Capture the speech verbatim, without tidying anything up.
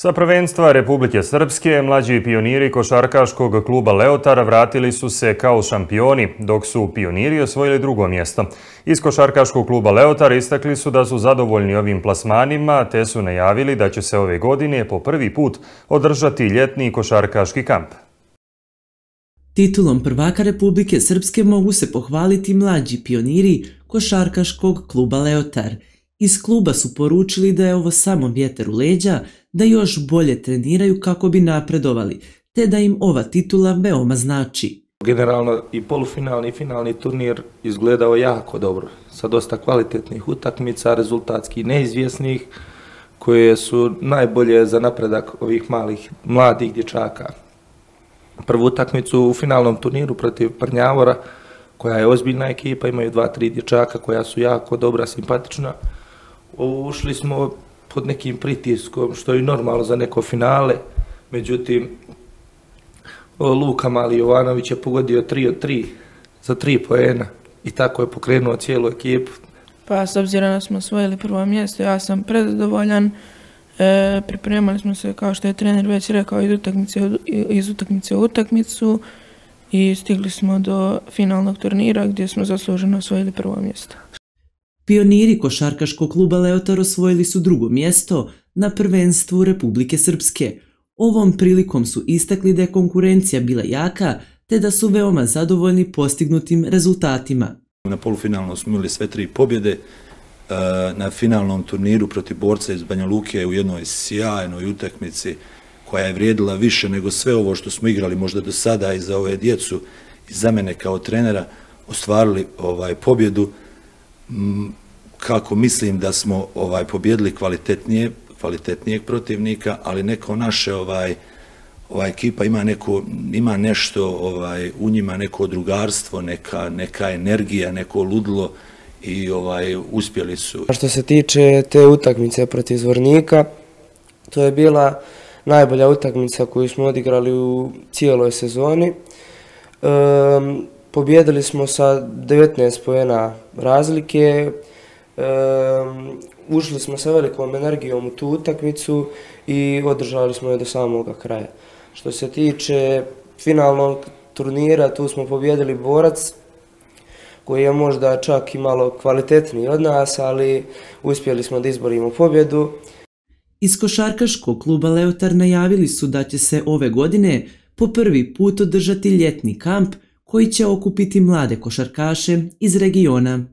Sa prvenstva Republike Srpske, mlađi pioniri košarkaškog kluba Leotar vratili su se kao šampioni, dok su pioniri osvojili drugo mjesto. Iz košarkaškog kluba Leotar istakli su da su zadovoljni ovim plasmanima, te su najavili da će se ove godine po prvi put održati ljetni košarkaški kamp. Titulom prvaka Republike Srpske mogu se pohvaliti mlađi pioniri košarkaškog kluba Leotar. Iz kluba su poručili da je ovo samo vjetar u leđa, da još bolje treniraju kako bi napredovali, te da im ova titula veoma znači. Generalno i polufinalni i finalni turnir izgledao jako dobro, sa dosta kvalitetnih utakmica, rezultatski neizvjesnih, koje su najbolje za napredak ovih malih, mladih dječaka. Prvu utakmicu u finalnom turniru protiv Prnjavora, koja je ozbiljna ekipa, imaju dva, tri dječaka koja su jako dobra, simpatična. Ušli smo pod nekim pritiskom, što je normalno za neko finale, međutim, Luka Mali Jovanović je pogodio tri od tri za tri poena i tako je pokrenuo cijelu ekipu. Pa s obzirom da smo osvojili prvo mjesto, ja sam prezadovoljan. E, pripremali smo se, kao što je trener već rekao, iz utakmice, iz utakmice u utakmicu i stigli smo do finalnog turnira gdje smo zasluženo osvojili prvo mjesto. Pioniri košarkaškog kluba Leotar osvojili su drugo mjesto na prvenstvu Republike Srpske. Ovom prilikom su istakli da je konkurencija bila jaka, te da su veoma zadovoljni postignutim rezultatima. Na polufinalnom smo imali sve tri pobjede. Na finalnom turniru protiv borca iz Banja Luke u jednoj sjajnoj utakmici koja je vrijedila više nego sve ovo što smo igrali možda do sada i za ove djecu i za mene kao trenera ostvarili ovaj pobjedu. Kako mislim da smo ovaj pobjedili kvalitetnije, kvalitetnijeg protivnika, ali neko naše ovaj ova ekipa ima neko ima nešto ovaj u njima, neko drugarstvo, neka neka energija, neko ludilo i ovaj uspjeli su. Što se tiče te utakmice protiv Zvornika, to je bila najbolja utakmica koju smo odigrali u cijeloj sezoni. E, pobjedili smo sa devetnaest poena razlike. E, ušli smo sa velikom energijom u tu utakmicu i održali smo je do samoga kraja. Što se tiče finalnog turnira, tu smo pobjedili Borac, koji je možda čak i malo kvalitetniji od nas, ali uspjeli smo da izborimo pobjedu. Iz košarkaškog kluba Leotar najavili su da će se ove godine po prvi put održati ljetni kamp koji će okupiti mlade košarkaše iz regiona.